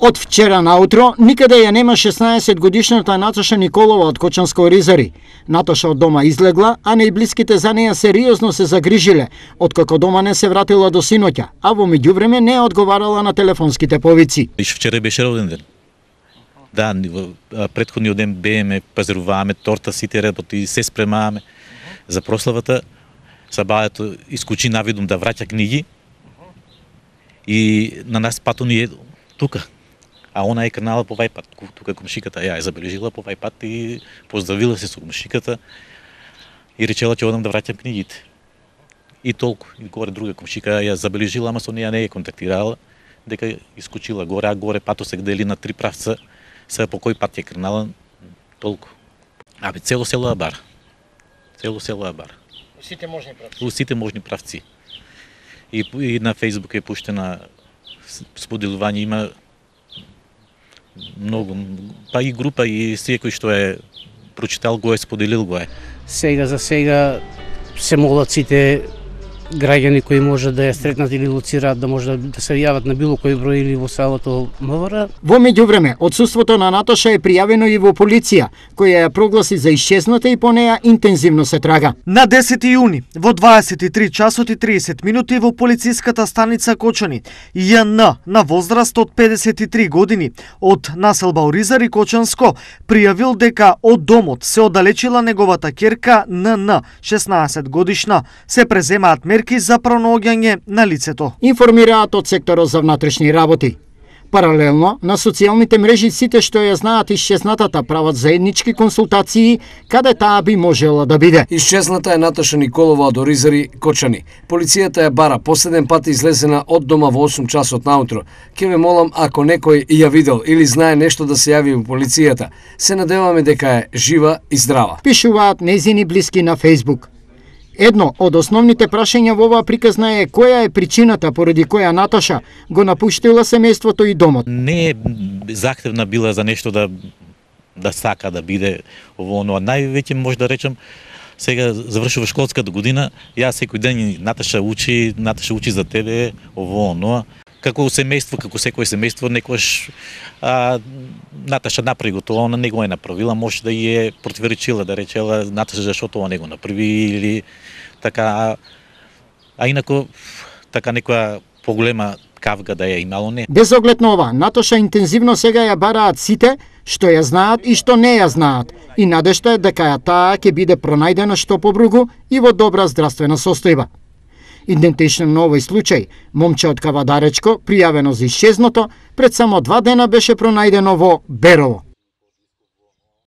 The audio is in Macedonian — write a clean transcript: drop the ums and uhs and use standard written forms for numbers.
Од вчера наутро никаде ја нема 16-годишната Наташа Николова од Кочанско Оризари. Наташа од дома излегла, а најблиските за неја сериозно се загрижиле, откако дома не се вратила до синоќа, а во меѓувреме не одговарала на телефонските повици. Вчера беше роден ден. Да, претходниот ден бееме, пазаруваме, торта, сите работи, се спремаваме за прославата. Сабајето искучи навидум да враќа книги и на нас пато ни е тука. А она е крнала по вај пат, тука комшиката ја е забележила по вај пат и поздравила се со комшиката и речела ќе одам да враќам книгите. И толку. И горе друга комшика ја забележила, ама со неја не е контактирала, дека искочила горе, а горе пато се дели на 3 правца, сега по кој пат ја крнала, толку. Абе, цело село ја бара. Цело село ја бара. Сите можни правци. Сите можни правци. И на Фейсбук е пуштена споделување, има многу, па и група и секој што е прочитал го е споделил го е. Сега за сега се молат сите граѓани кои може да ја сретнат или лоцираат да може да се јават на било кој број или во селото МВР. Во меѓувреме, отсуството на Наташа е пријавено и во полиција, која ја прогласи за исчезната и по неја интензивно се трага. На 10 јуни во 23 часот и 30 минути во полициската станица Кочани, Ј.Н. на возраст од 53 години од населба Оризари Кочанско пријавил дека од домот се оддалечила неговата ќерка Н.Н. 16 годишна. Се преземаат мерки за пронаоѓање на лицето. Информираат од секторот за внатрешни работи. Паралелно, на социјалните мрежи сите што ја знаат исчезнатата прават заеднички консултации каде таа би можела да биде. Исчезната е Наташа Николова од Оризари Кочани. Полицијата ја бара, последен пат излезена од дома во 8 часот наутро. Ке ве молам ако некој ја видел или знае нешто да се јави во полицијата. Се надеваме дека е жива и здрава. Пишуваат нејзини блиски на Фейсбук. Едно од основните прашања во оваа приказна е која е причината поради која Наташа го напуштила семејството и домот. Не е захтевна била за нешто да сака да биде ово оно. Највеќе може да речем, сега завршува школската година, ја секој ден Наташа учи за тебе ово оно. Како семејство, како секој семејство, некојаш Наташа направи го тоа, она не го е направила, може да ја е противоречила, да речела Наташа зашто тоа не го направи или така, а инако така некоја поголема кавга да ја имало не. Без оглед на ова, Наташа интензивно сега ја бараат сите што ја знаат и што не ја знаат и надежта е дека таа ќе биде пронајдена што побругу и во добра здравствена состојба. Идентично на овој случај, момче од Кавадаречко, пријавено за исчезното, пред само 2 дена беше пронајдено во Берово.